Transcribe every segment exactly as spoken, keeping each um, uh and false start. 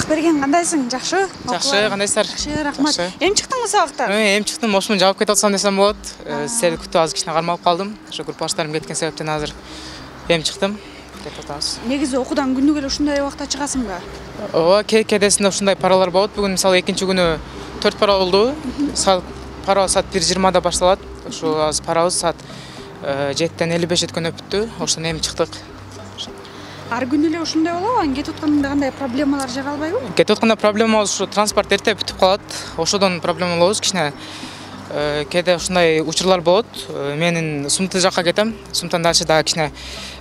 Бакберген кандайсың? Жакшы? Жакшы, кандайсыздар? Жакшы, рахмат. Эми чыктыңбы сабактан? Эми чыктым, ошону жаап кете алсам десем болот. Силерди күтүп азыр кичине кармалып калдым. Ошо группаштарым кеткен себептен азыр эми чыктым. Кетип атабыз. Негизи окуудан күнүгө эле ушундай убакта чыгасыңбы? Ооба, кээ-кээдесинде ушундай паралар болот. Бүгүн мисалы экинчи күнү төрт пара болду. Саат пара саат бир жыйырмада башталат. Ошо азыр парабыз саат жетиден элүү беш өткөн өттү. Ошондон эми чыктык. Ар күнү эле ушундай болобу? Анан кетип атканда кандай проблемалар жаралбайбы? Кетип атканда проблема болсо ушу транспорт эрте бүтүп калат. Ошодон проблема болобуз кичине. Кээде ушундай учурлар болот. Менин Сумты жакка кетем. Сумтан дальше дагы кичине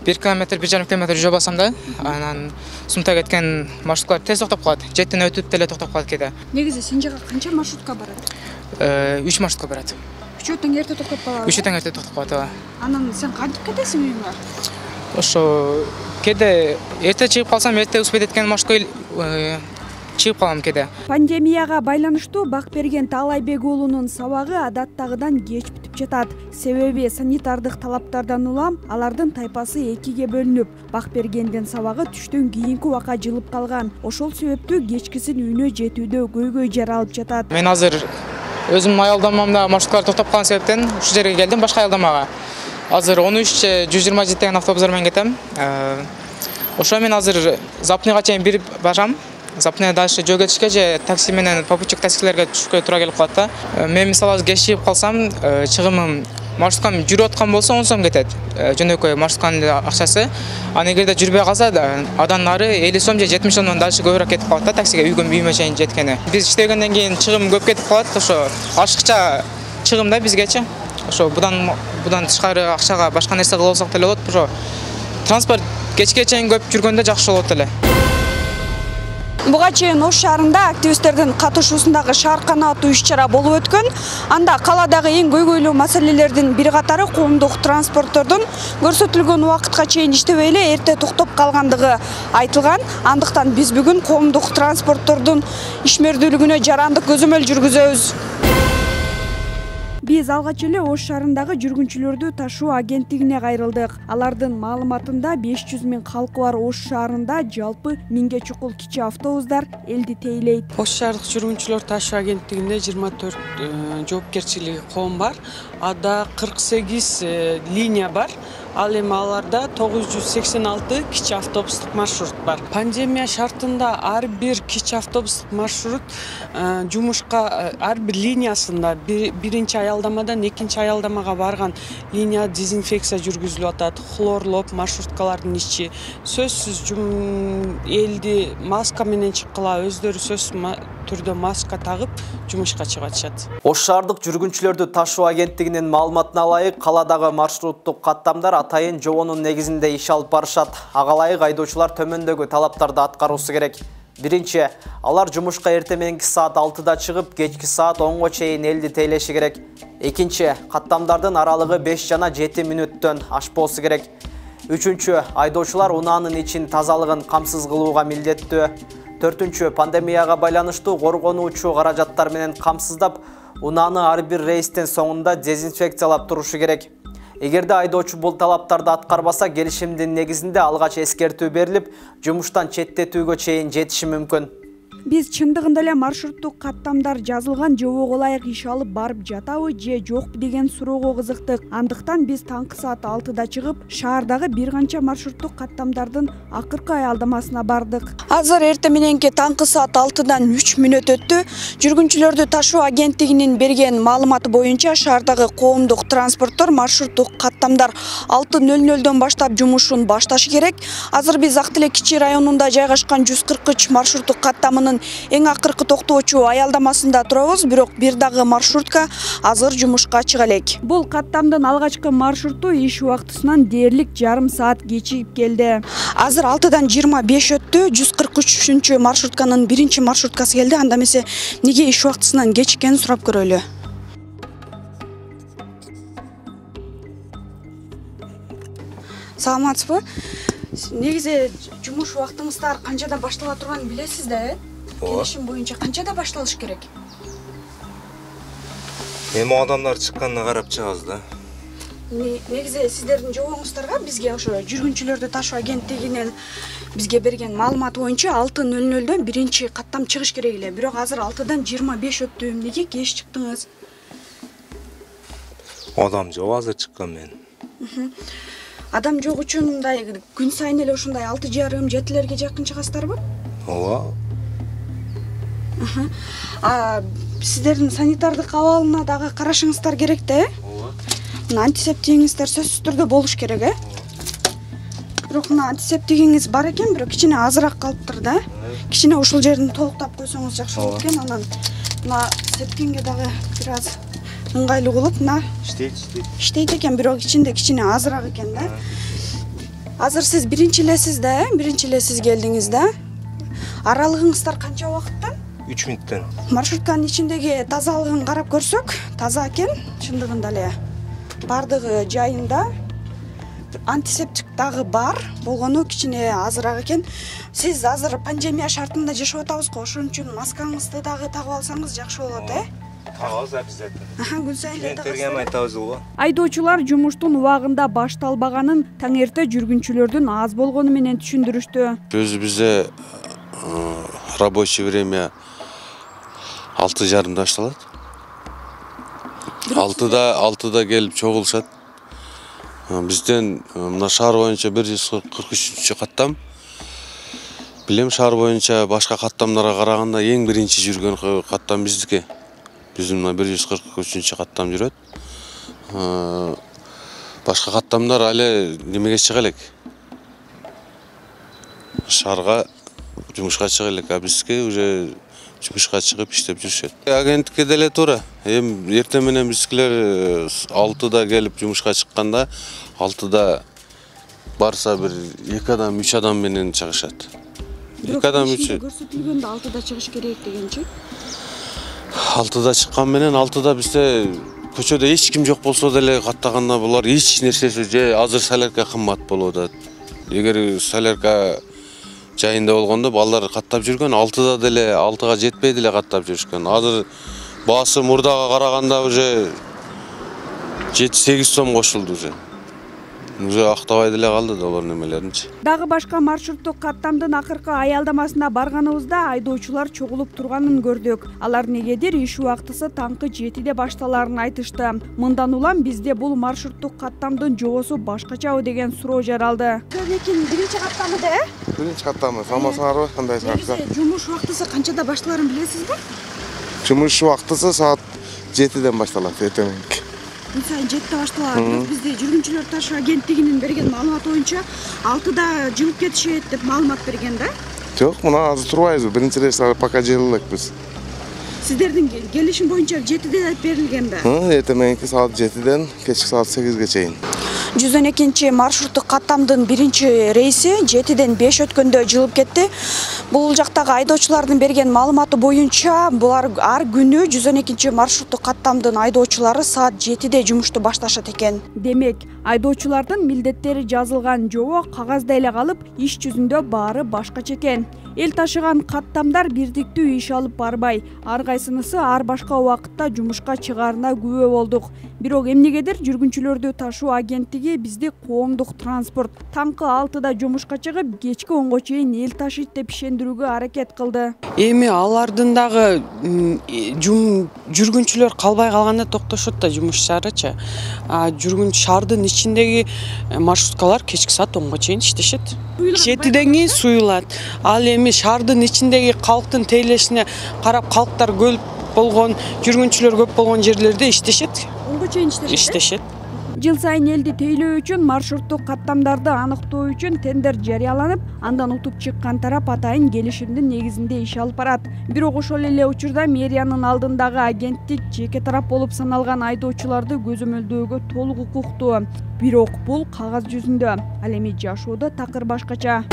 бир километр, бир жарым километр жүрө басам да. Анан Сумта кеткен маршруткалар тез токтоп калат. Жетиден өтүп деле токтоп калат кээде. Негизи сен жака канча маршрутка барат? үч маршрутка барат. Үчөө тең эрте токтоп калат. Үчөө тең эрте токтоп калат. Анан сен кантип кетесиң үйүңө? Ошо кээде эрте чыгып калсам, эрте успеть эткен маршрутка чыгып калам кээде. Пандемияга байланыштуу Бакберген Таалайбек уулунун сабагы адаттагыдан кеч бүтүп жатат. Себеби санитардык талаптардан улам алардын тайпасы экиге бөлүнүп, Бакбергендин сабагы түштөн кийинки убакка жылып калган. Ошол себептүү кечкисин үйүнө жетүүдө көйгөй жаралып жатат. Мен азыр өзүм аялдамамда маршруткалар токтоп калган себептен ушул жерге келдим, башка аялдамага. Азыр он үч жүз жыйырма жети деген автобустар менен кетем. Ошо мен азыр Запныйга чейин бир барам. Запныйга дальше жөө кетишке же такси менен попутчик таксилерге түшүшкө туура келип калат да. Мен мисалы азыр кеч чыгып калсам, чыгымым маршруткам жүрүп аткан болсо он сом кетет. Жөнөкөй маршрутканын акчасы. Анан эгерде жүрбөй калса, адан нары элүү сом же жетимиш сомдон дальше көбүрөөк кетип калат да таксиге үйгө үйүмө чейин жеткени. Биз иштегенден кийин чыгым көп кетип калат. Ошо ашыкча чыгым да бизгечи. Ошо будан будан тышкары акчага башка нерсе кыла алсак деле болот. Ошо транспорт кечке чейин көп жүргөндө жакшы болот эле. Буга чейин Ош шаарында активисттердин катышуусундагы шаар канааттуу иш-чара болуп өткөн. Анда каладагы эң көйгөйлүү маселелердин бир катары коомдук транспорттордун көрсөтүлгөн убакытка чейин иштебей эле эрте токтоп калгандыгы айтылган. Андыктан биз бүгүн коомдук транспорттордун ишмердүүлүгүнө жарандык көзөмөл жүргүзөбүз. Биз алгач эле Ош шаарындагы жүргүнчүлөрдү ташуу агенттигине кайрылдык. Алардын маалыматында беш жүз миң калкы бар Ош шаарында жалпы миңге чукул кичи автобустар элди тейлейт. Ош шаардык жүргүнчүлөр ташуу агенттигинде жыйырма төрт жоопкерчилиги коом бар. Ада кырк сегиз линия бар. Ал эми аларда тогуз жүз сексен алты кичи автобустук маршрут бар. Пандемия шартында ар бир кичи автобустук маршрут жумушка ар бир линиясында биринчи аялдамадан экинчи аялдамага барган линия дезинфекция жүргүзүлүп атат. Хлорлоп маршруткалардын ичи сөзсүз элди маска менен чыккыла, өздөрү сөзсүз түрдө маска тагып жумушка чыгып атышат. Ош шаардык жүргүнчүлөрдү ташуу агенттигинин маалыматына ылайык, каладагы маршруттук каттамдар атайын жобонун негизинде иш алып барышат. Ага ылайык айдоочулар төмөндөгү талаптарды аткаруусу керек. Биринчи, алар жумушка эрте мененки саат алтыда чыгып, кечки саат онго чейин элди тейлеши керек. Экинчи, каттамдардын аралыгы беш жана жети мүнөттөн ашпоосу керек. Үчүнчү, айдоочулар унаанын ичин тазалыгын камсыз кылууга милдеттүү. Төртүнчү, пандемияга байланыштуу коргонуучу каражаттар менен камсыздап, унааны ар бир рейстин соңунда дезинфекциялап турушу керек. Эгерде айдоочу бул талаптарды аткарбаса, келишимдин негизинде алгач эскертүү берилип, жумуштан четтетүүгө чейин жетиши мүмкүн. Биз чындыгында эле маршруттук каттамдар жазылган жобого ылайык иш алып барып жатабы же жокпу деген суроого кызыктык. Андыктан биз таңкы саат алтыда чыгып, шаардагы бир канча маршруттук каттамдардын акыркы аялдамасына бардык. Азыр эрте мененки таңкы саат алтыдан үч мүнөт өттү. Жүргүнчүлөрдү ташуу агенттигинин берген маалыматы боюнча шаардагы коомдук транспорттор маршруттук каттамдар алты нөл нөлдөн баштап жумушун башташы керек. Азыр биз Ак Тилек кичи районунда жайгашкан жүз кырк үч маршруттук каттамынын эң акыркы токтоочу аялдамасында турабыз, бирок бир дагы маршрутка азыр жумушка чыга элек. Бул каттамдын алгачкы маршруту иш убактысынан дээрлик жарым саат кечигип келди. Азыр алтыдан жыйырма беш өттү. жүз кырк үчүнчү маршрутканын биринчи маршруткасы келди. Анда эмесе неге иш убактысынан кечиккенин сурап көрөлү. Саламатсызбы? Негизи жумуш убактыңыздар канчада баштала турганын билесиз да, э? Келишим боюнча канчада башталыш керек? Эми адамдар чыкканына карап чыгабыз да. Негизи сиздердин жобоңуздарга бизге ошо жүргүнчүлөрдү ташуу агенттигинен бизге берген маалымат боюнча алты нөл нөлдөн биринчи каттам чыгыш керек эле. Бирок азыр алтыдан жыйырма беш өттү. Эмнеге кеч чыктыңыз? Адам жок, азыр чыккан мен. Адам жок үчүн мындай күн сайын эле ушундай алты жарым жетилерге жакын чыгасыздарбы? Ооба. А сиздердин санитардык абалына дагы карашыңыздар керек да, э? Ооба. Мына антисептигиңиздер сөзсүз түрдө болуш керек, э? Бирок мына антисептигиңиз бар экен, бирок кичине азыраак калыптыр да. Кичине ушул жерин толуктап койсоңуз жакшы болот экен. Анан мына сепкенге дагы бир аз ыңгайлуу болот. Мына Иштейт, иштейт. иштейт экен, бирок ичинде кичине азыраак экен да. Азыр сиз биринчи элесиз да, э? Биринчи эле сиз келдиңиз да. Аралыгыңыздар канча убакыттан? үч мүнөттөн. Маршрутканын ичиндеги тазалыгын карап көрсөк, таза экен, чындыгында эле. Бардыгы жайында. Антисептик дагы бар, болгону кичине азыраак экен. Сиз азыр пандемия шартында жашап атабызго, ошон үчүн маскаңызды дагы тагып алсаңыз жакшы болот, э? Тагабыз обязательно. Аха, күн сайын эле Клиенттерге эми айтабыз го. Айдоочулар жумуштун убагында башталбаганын таңерте жүргүнчүлөрдүн аз болгону менен түшүндүрүштү. Өзү бизде рабочий время алты жарымда башталат. Алтыда алтыда келип чогулушат. Бизден мына шаар боюнча бир жүз кырк үчүнчү каттам. Билем, шаар боюнча башка каттамдарга караганда эң биринчи жүргөн каттам биздики. Биздин мына бир жүз кырк үчүнчү каттам жүрөт. Башка каттамдар але немеге чыга элек. Шаарга жумушка чыга элек, а бизге уже жумушка чыгып иштеп жүрүшөт. Агенттикке деле туура. Эми эртең менен бизкилер алтыда келип жумушка чыкканда, алтыда барса бир эки адам, үч адам менен чыгышат. эки адам, үч. Көрсөтүлгөндө алтыда чыгыш керек дегенчи. алтыда чыккан менен алтыда бизде көчөдө эч ким жок болсо деле каттаганда булар эч нерсеси же азыр солярка кымбат болуп атат. Эгер солярка жайында болгондо балдар каттап жүргөн, алтыда деле алтыга жетпей деле каттап жүрүшкөн. Азыр баасы мурдага караганда уже жети сегиз сом кошулду уже. Уже актабай деле калды да алар немелеринчи. Дагы башка маршруттук каттамдын акыркы аялдамасына барганыбызда айдоочулар чогулуп турганын көрдүк. Алар негедир иш убактысы таңкы жетиде башталарын айтышты. Мындан улам бизде бул маршруттук каттамдын жобосу башкачабы деген суроо жаралды. Лекин биринчи каттамы да, э? Биринчи каттамы. Саламатсыңарбы? Кандай саатта? Жумуш убактысы канчада башталарын билесизби? Жумуш убактысы саат жетиден башталат, эртең. Күн сайын жетиде башталат. Бирок бизде жүргүнчүлөр ташуу агенттигинин берген маалыматы боюнча алтыда жылып кетишет деп маалымат берген да? Жок, мына азыр турбайбыз. Биринчи рейс пока жел элекпиз. Сиздердин келишим боюнча жетиде деп берилгенби? Эртең мененки саат жетиден кечки саат сегизге чейин. жүз он экинчи маршруттук каттамдын биринчи рейси жетиден беш өткөндө жылып кетти. Бул жактагы айдоочулардын берген маалыматы боюнча булар ар күнү жүз он экинчи маршруттук каттамдын айдоочулары саат жетиде жумушту башташат экен. Демек, айдоочулардын милдеттери жазылган жобо кагазда эле калып, иш жүзүндө баары башкача экен. Эл ташыган каттамдар бирдиктүү иш алып барбай, ар кайсынысы ар башка убакытта жумушка чыгаарына күбө болдук. Бирок эмнегедир жүргүнчүлөрдү ташуу агенттиги бизди коомдук транспорт таңкы алтыда жумушка чыгып, кечки онго чейин эл ташыйт деп ишендирүүгө аракет кылды. Эми алардын дагы жүргүнчүлөр калбай калганда токтошот да жумушчарычы. Жүргүн шаардын ичиндеги маршруткалар кечки саат онго чейин иштешет. Жетиден кийин суюлат. Ал эми шаардын ичиндеги калктын тейлешине карап, калктар көп болгон, жүргүнчүлөр көп болгон жерлерде иштешет. Онго чейин иштешет. Иштешет. Жыл сайын элди тейлөө үчүн маршруттук каттамдарды аныктоо үчүн тендер жарыяланып, андан утуп чыккан тарап атайын келишимдин негизинде иш алып барат. Бирок ошол эле учурда мэриянын алдындагы агенттик жеке тарап болуп саналган айдоочуларды көзөмөлдөөгө толук укуктуу. Бирок бул кагаз жүзүндө, ал эми жашоодо такыр башкача.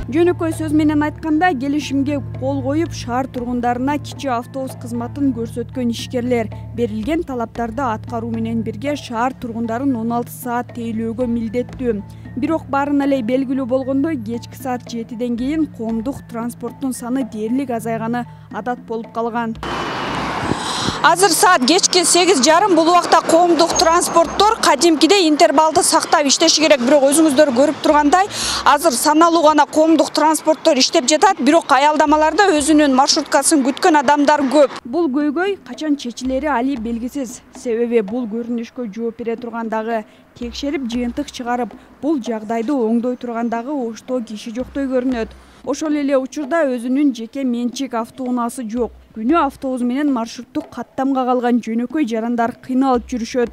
Жөнөкөй сөз менен айтканда, келишимге кол коюп, шаар тургундарына кичи автобус кызматын көрсөткөн ишкерлер берилген талаптарды аткаруу менен бирге шаар тургундарын он алты саат тейлөөгө милдеттүү. Бирок баарына эле белгилүү болгондой, кечки саат жетиден кийин коомдук транспорттун саны дээрлик азайганы адат болуп калган. Азыр саат кечки сегиз жарым, бул убакта коомдук транспорттор кадимкидей интервалды сактап иштеши керек. Бирок өзүңүздөр көрүп тургандай, азыр саналуу гана коомдук транспорттор иштеп жатат, бирок аялдамаларда өзүнүн маршруткасын күткөн адамдар көп. Бул көйгөй качан чечилери али белгисиз. Себеби бул көрүнүшкө жооп бере тургандагы, текшерип жыйынтык чыгарып, бул жагдайды оңдой тургандагы оштоо киши жоктой көрүнөт. Ошол эле учурда өзүнүн жеке менчик автоунаасы жок. Күнү автобус менен маршруттук каттамга калган жөнөкөй жарандар кыйналып жүрүшөт.